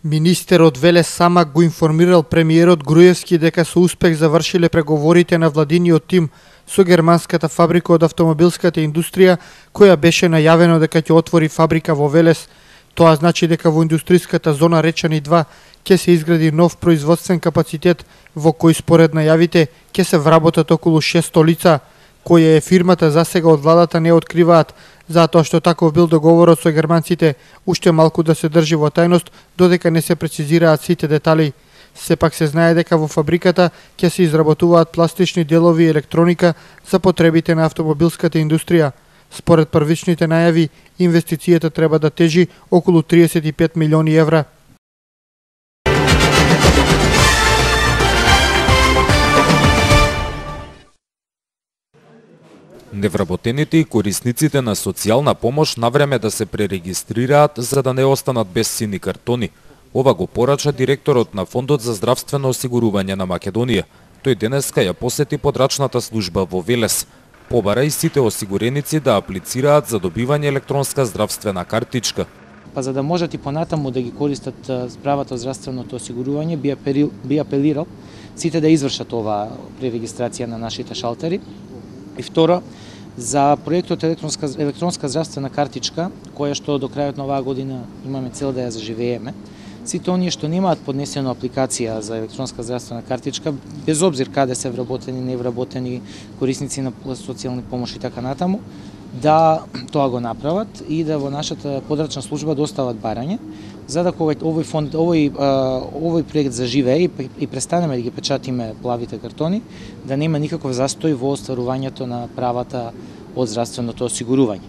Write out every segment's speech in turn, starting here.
Министерот Велес Самак го информирал премиерот Груевски дека со успех завршиле преговорите на владиниот тим со германската фабрика од автомобилската индустрија, која беше најавено дека ќе отвори фабрика во Велес. Тоа значи дека во индустријската зона Речани 2 ќе се изгради нов производствен капацитет во кој според најавите ќе се вработат околу 600 лица. Која е фирмата засега од владата не откриваат, затоа што таков бил договорот со германците, уште малку да се држи во тајност, додека не се прецизираат сите детали. Сепак се знае дека во фабриката ќе се изработуваат пластични делови и електроника за потребите на автомобилската индустрија. Според првичните најави, инвестицијата треба да тежи околу 35 милиони евра. Невработените и корисниците на социјална помош навреме да се пререгистрираат за да не останат без сини картони. Ова го порача директорот на Фондот за здравствено осигурување на Македонија. Тој денеска ја посети подрачната служба во Велес. Побара и сите осигуреници да аплицираат за добивање електронска здравствена картичка. Па за да можат и понатаму да ги користат правата од здравственото осигурување, би апелирал сите да извршат ова пререгистрација на нашите шалтери. И второ, за проектот електронска здравствена картичка, која што до крајот на оваа година имаме цел да ја заживееме, сите оние што немаат поднесено апликација за електронска здравствена картичка, без обзир каде се вработени, невработени, корисници на социјални помоши и така натаму, да тоа го направат и да во нашата подрачна служба достават барање, за да кога овој проект заживее и престанеме да ги печатиме плавите картони, да нема никаков застој во остварувањето на правата од здравственото осигурување.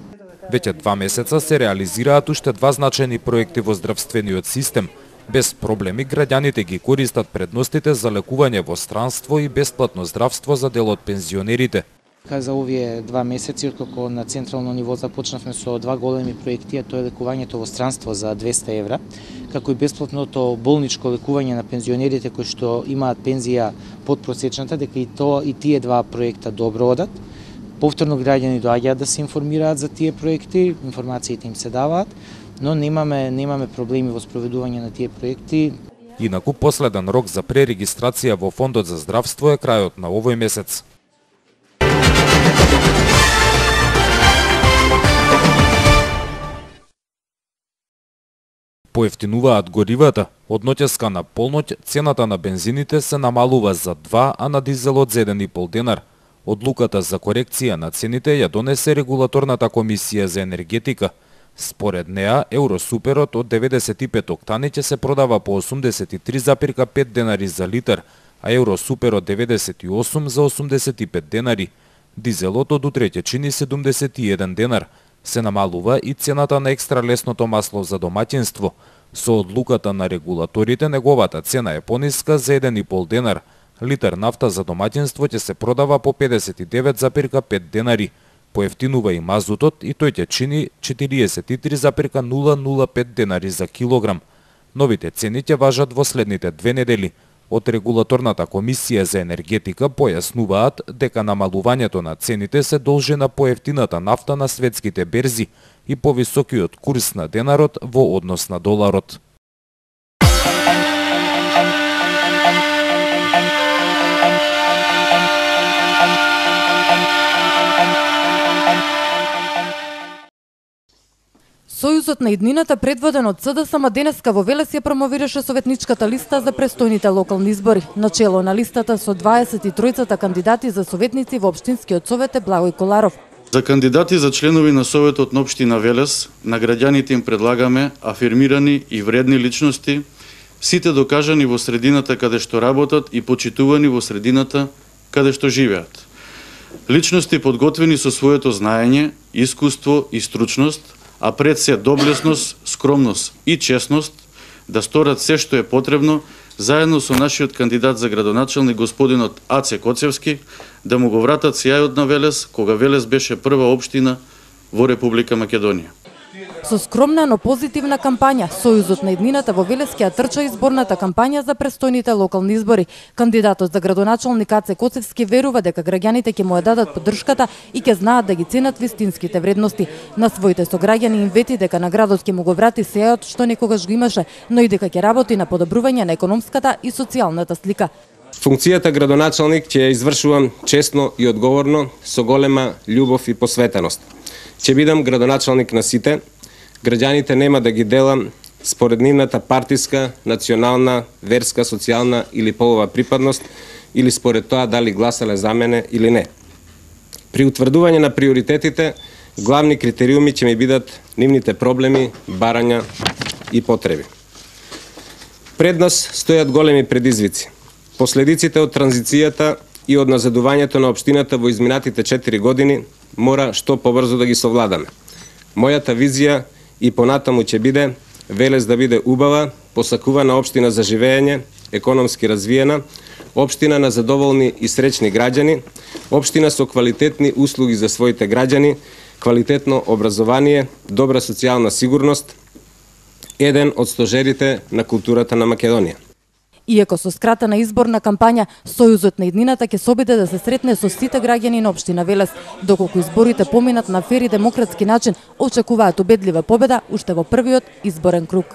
Веќе 2 месеца се реализираат уште 2 значајни проекти во здравствениот систем. Без проблеми граѓаните ги користат предностите за лекување во странство и бесплатно здравство за дел од пензионерите. За овие 2 месеци, откако на централно ниво започнавме со 2 големи проекти, а тоа е лекувањето во странство за 200 евра, како и бесплатното болничко лекување на пензионерите кои што имаат пензија под просечната, дека и тие 2 проекта добро одат. Повторно граѓани доаѓаат да се информираат за тие проекти, информациите им се даваат, но немаме проблеми во спроведување на тие проекти. Инаку последен рок за пререгистрација во Фондот за здравство е крајот на овој месец. Поевтинуваат горивата. Од ноќеска на полноќ цената на бензините се намалува за 2, а на дизелот за 1,5 денар. Одлуката за корекција на цените ја донесе регулаторната комисија за енергетика. Според неа, Евросуперот од 95 октани ќе се продава по 83,5 денари за литар, а Евросуперот 98 за 85 денари. Дизелот од утре ќе чини 71 денар. Се намалува и цената на екстра лесното масло за домаќинство. Со одлуката на регулаторите, неговата цена е пониска за 1,5 денар. Литар нафта за домаќинство ќе се продава по 59,5 денари. Поевтинува и мазутот и тој ќе чини 43,005 денари за килограм. Новите цени ќе важат во следните 2 недели. Од регулаторната комисија за енергетика појаснуваат дека намалувањето на цените се должи на поевтината нафта на светските берзи и повисокиот курс на денарот во однос на доларот. Сојузот на иднината, предводен од СДСМ, денеска во Велес ја промовираше советничката листа за престојните локални избори. Начело на листата со 23-цата кандидати за советници во Општинскиот совет е Благој Коларов. За кандидати за членови на Советот на Општина Велес, на граѓаните им предлагаме афирмирани и вредни личности, сите докажани во средината каде што работат и почитувани во средината каде што живеат. Личности подготвени со своето знаење, искуство и стручност, а пред се доблесност, скромност и честност, да сторат се што е потребно, заедно со нашиот кандидат за градоначелник господинот Аце Коцевски, да му го вратат сјајот на Велес, кога Велес беше прва општина во Република Македонија. Со скромна, но позитивна кампања, Сојузот на иднината во Велес ќе трча изборната кампања за престојните локални избори. Кандидатот за градоначалник Аце Коцевски верува дека граѓаните ќе му ја дадат поддршката и ќе знаат да ги ценат вистинските вредности. На своите сограѓани им вети дека на градот ќе му го врати сејот што некогаш го имаше, но и дека ќе работи на подобрување на економската и социјалната слика. Функцијата градоначалник ќе ја извршувам честно и одговорно, со голема љубов и посветеност. Ќе бидам градоначалник на сите. Граѓаните нема да ги делам според нивната партиска, национална, верска, социјална или полова припадност или според тоа дали гласале за мене или не. При утврдување на приоритетите, главни критериуми ќе ми бидат нивните проблеми, барања и потреби. Пред нас стојат големи предизвици. Последиците од транзицијата и од назадувањето на општината во изминатите 4 години мора што побрзо да ги совладаме. Мојата визија и понатаму ќе биде Велес да биде убава, посакувана општина за живење, економски развиена, општина на задоволни и среќни граѓани, општина со квалитетни услуги за своите граѓани, квалитетно образование, добра социјална сигурност, еден од стожерите на културата на Македонија. Иако со скратена изборна кампања, Сојузот на иднината ќе се обиде да се сретне со сите граѓани на општина Велес. Доколку изборите поминат на фер и демократски начин, очекуваат убедлива победа уште во првиот изборен круг.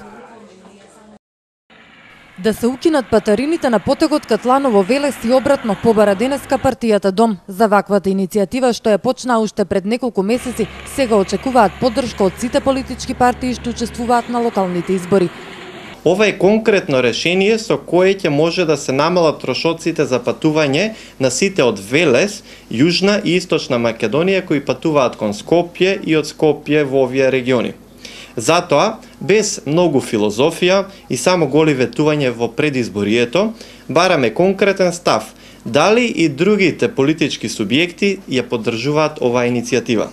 Да се укинат патарините на потегот Катланово Велес и обратно побара денеска партијата Дом. За ваквата иницијатива што ја почна уште пред неколку месеци, сега очекуваат поддршка од сите политички партии што учествуваат на локалните избори. Ова е конкретно решение со кое ќе може да се намалат трошоците за патување на сите од Велес, Јужна и Источна Македонија кои патуваат кон Скопје и од Скопје во овие региони. Затоа, без многу филозофија и само голи ветување во предизборието, бараме конкретен став дали и другите политички субјекти ја поддржуваат оваа иницијатива.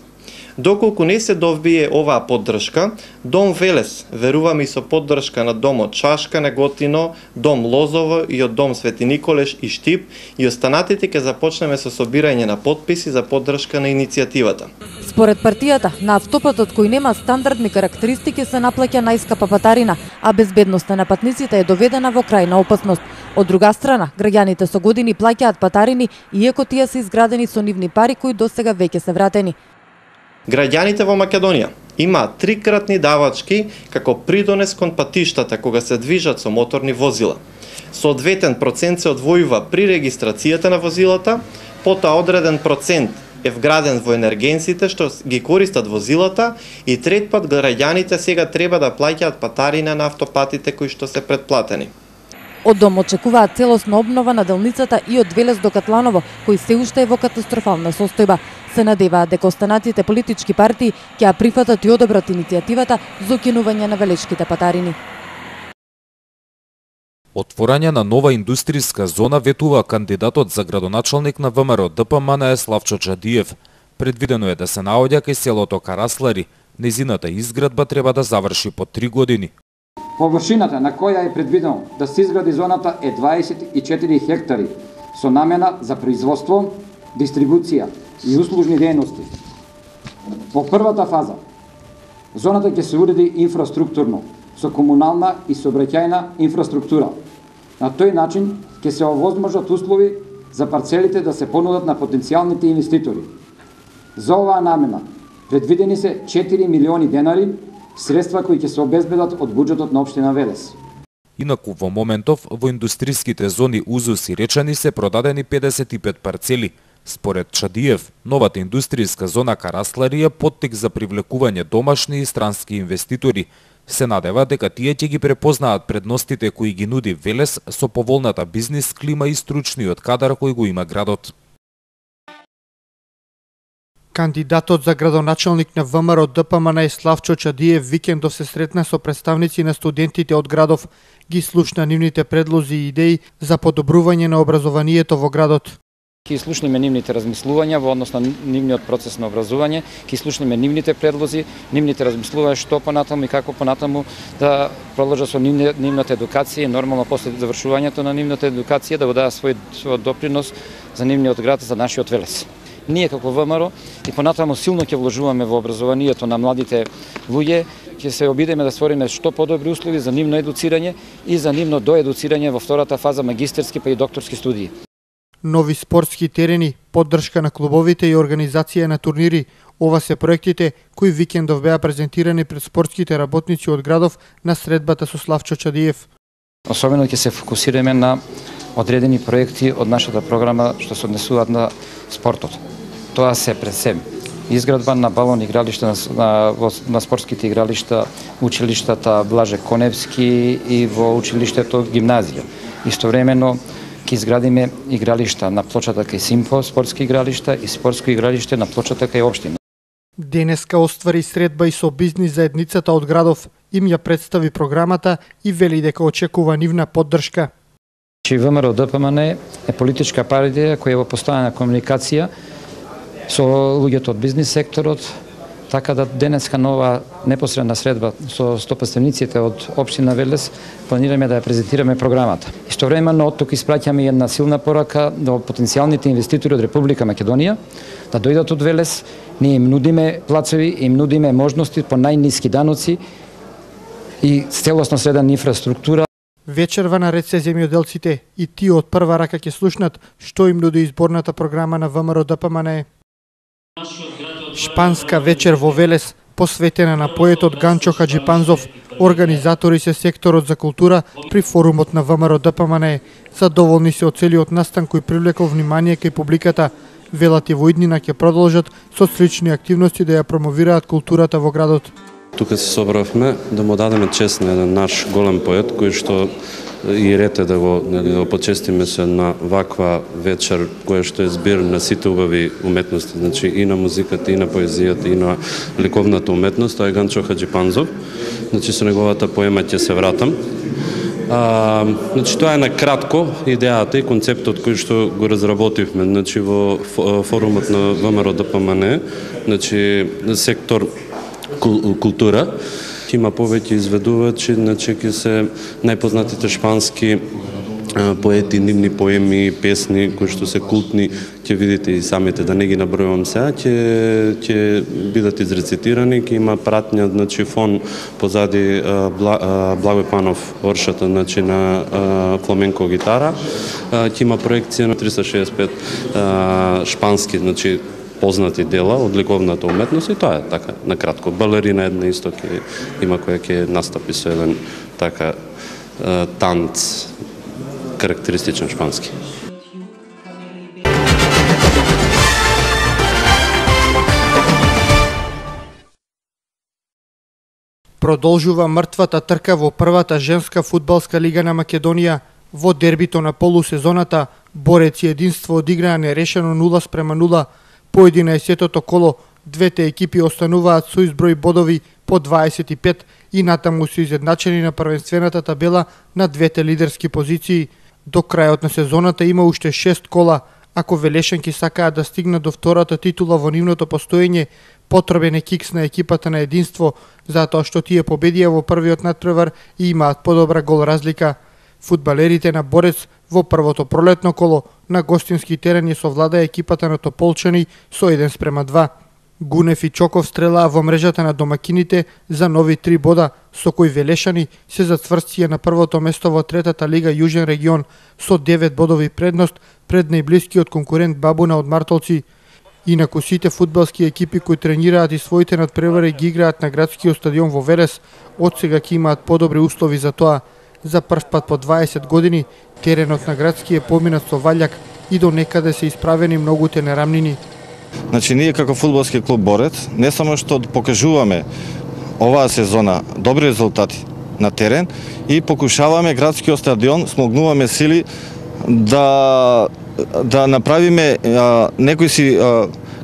Доколку не се добие оваа поддршка, Дом Велес, верувам и со поддршка на Домот Шашка, Неготино, Дом Лозово и од Дом Свети Николеш и Штип, и останатите ќе започнеме со собирање на подписи за поддршка на иницијативата. Според партијата, на автопатот кој нема стандардни карактеристики се наплаќа најскапа патарина, а безбедноста на патниците е доведена во крајна опасност. Од друга страна, граѓаните со години плаќаат патарини, иако тие се изградени со нивни пари кои досега веќе се вратени. Граѓаните во Македонија имаат трикратни давачки како придонес кон патиштата кога се движат со моторни возила. Соодветен процент се одвојува при регистрацијата на возилата, потоа одреден процент е вграден во енергенците што ги користат возилата и трет пат граѓаните сега треба да плаќаат патарина на автопатите кои што се предплатени. Од Дом очекуваат целосна обнова на делницата и од Велес до Катланово, кој се уште е во катастрофална состојба. Се надеваат дека останатите политички партии ќе ја прифатат и одобрат иницијативата за укинување на велешките патарини. Отворање на нова индустријска зона ветува кандидатот за градоначалник на ВМРО ДПМН Славчо Чадиев. Предвидено е да се наоѓа кај селото Караслари. Незината изградба треба да заврши по 3 години. Површината на која е предвидено да се изгради зоната е 24 хектари со намена за производство, дистрибуција и услужни дејности. Во првата фаза, зоната ќе се уреди инфраструктурно, со комунална и сообраќајна инфраструктура. На тој начин ќе се овозможат услови за парцелите да се понудат на потенцијалните инвеститори. За оваа намена предвидени се 4 милиони денари, средства кои ќе се обезбедат од буџетот на општина Велес. Инаку во моментов во индустријските зони Узус и Речани се продадени 55 парцели. Според Чадиев, новата индустријска зона Караслари е поттик за привлекување домашни и странски инвеститори. Се надева дека тие ќе ги препознаат предностите кои ги нуди Велес со поволната бизнис клима и стручниот кадар кој го има градот. Кандидатот за градоначалник на ВМРО ДПМН Славчо Чадиев викендов се сретна со представници на студентите од градов, ги слушна нивните предлози и идеи за подобрување на образованието во градот. Ки слушнеме нивните размислувања во однос на нивниот процес на образување, ки слушнеме нивните предлози, нивните размислувања што понатаму и како понатаму да продолжат со нивната едукација и нормално после завршувањето на нивната едукација да го дадат свој допринос за нивниот град, за нашиот Велес. Ние како ВМРО и понатаму силно ќе вложуваме во образованието на младите луѓе, ќе се обидеме да створиме што подобри услови за нивно едуцирање и за нивно доедуцирање во втората фаза магистерски па и докторски студии. Нови спортски терени, поддршка на клубовите и организација на турнири. Ова се проектите кои викендов беа презентирани пред спортските работници од градов на средбата со Славчо Чадиев. Особено ќе се фокусираме на одредени проекти од нашата програма што се однесуваат на спортот. Тоа се пред се изградба на балон игралишта на спортските игралишта, училиштата Блаже Коневски и во училиштето гимназија. Истовремено ќе изградиме игралишта на плочата кај Симфо, спортски игралишта и спортско игралиште на плочата кај општина. Денеска оствари средба и со бизнис заедницата од градов. Им ја представи програмата и вели дека очекува нивна поддршка. ВМРО ДПМН е политичка партија која е во постојана комуникација со луѓето од бизнис секторот, така да денеска нова непосредна средба со стопанствениците од општина Велес планираме да ја презентираме програмата. Истовремено од тук испраќаме една силна порака до потенцијалните инвеститори од Република Македонија да дојдат од Велес. Ние им нудиме плацови, им нудиме можности по најниски даноци и целосно средна инфраструктура. Вечерва наред се земјоделците и тие од прва рака ќе слушнат што им нуди изборната програма на ВМРО ДПМН. Шпанска вечер во Велес, посветена на поетот Ганчо Хаджипанзов, организатори се секторот за култура при форумот на ВМРО ДПМН. Задоволни се од целиот настан кој привлекол внимание кај публиката. Велат и во иднина ќе продолжат со слични активности да ја промовираат културата во градот. Тука се собравме да му дадеме чест на еден наш голем поет кој што и рете да го почестиме се на ваква вечер која што е збир на сите убави уметности, значи и на музиката, и на поезијата, и на ликовната уметност. Тоа е Ганчо Хаджипанзов. Значи со неговата поема ќе се вратам. Значи тоа е на кратко идејата и концептот кој што го разработивме, значи во форумот на ВМРО ДПМН, значи сектор култура. Има повеќе изведувачи, значи ќе се најпознатите шпански поети, нивни поеми, песни кои што се култни, ќе видите и самите, да не ги набројувам сега, ќе бидат изрецитирани, ќе има пратња, значи фон позади Благој Панов оршата, значи на фламенко гитара, ќе има проекција на 365 шпански, значи познати дела од ликовната уметност и тоа е така на кратко. Балерина една исто ќе има која ќе настапи со еден така танц карактеристичен шпански. Продолжува мртвата трка во првата женска фудбалска лига на Македонија. Во дербито на полусезоната Борец и Единство одиграа нерешено 0:0. По 11-тото коло, двете екипи остануваат со изброј бодови по 25 и натаму се изедначени на првенствената табела на двете лидерски позиции. До крајот на сезоната има уште 6 кола. Ако велешанки сакаат да стигнат до втората титула во нивното постоење, потребен е кикс на екипата на Единство, затоа што тие победија во првиот натпревар и имаат подобра гол разлика. Фудбалерите на Борец во првото пролетно коло на гостински терен ја совлада екипата на Тополчани со 1:2. Гунев и Чоков стрелаа во мрежата на домакините за нови 3 бода, со кои велешани се зацврстија на првото место во третата лига Јужен регион со 9 бодови предност пред најблискиот конкурент Бабуна од Мартолци. Инаку сите фудбалски екипи кои тренираат и своите надпревари ги играат на градскиот стадион во Велес, одсега ќе имаат подобри услови за тоа. За прв пат по 20 години теренот на градски е поминат со валјак и до некаде се исправени многуте нерамнини. Значи ние како фудбалски клуб Борец не само што покажуваме оваа сезона добри резултати на терен и покушаваме градскиот стадион, смогнуваме сили да направиме некои си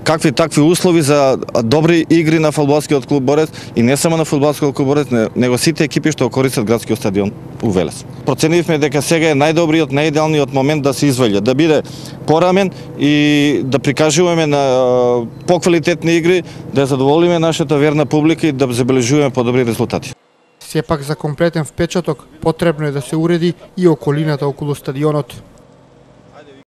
какви такви услови за добри игри на фудбалскиот клуб Борец и не само на фудбалскиот клуб Борец, него сите екипи што користат градскиот стадион у Велес. Проценивме дека сега е најдобриот, најидеалниот момент да се изваѓа, да биде порамен и да прикажуваме на поквалитетни игри, да задоволиме нашата верна публика и да забележуваме подобри резултати. Сепак за комплетен впечаток потребно е да се уреди и околината околу стадионот.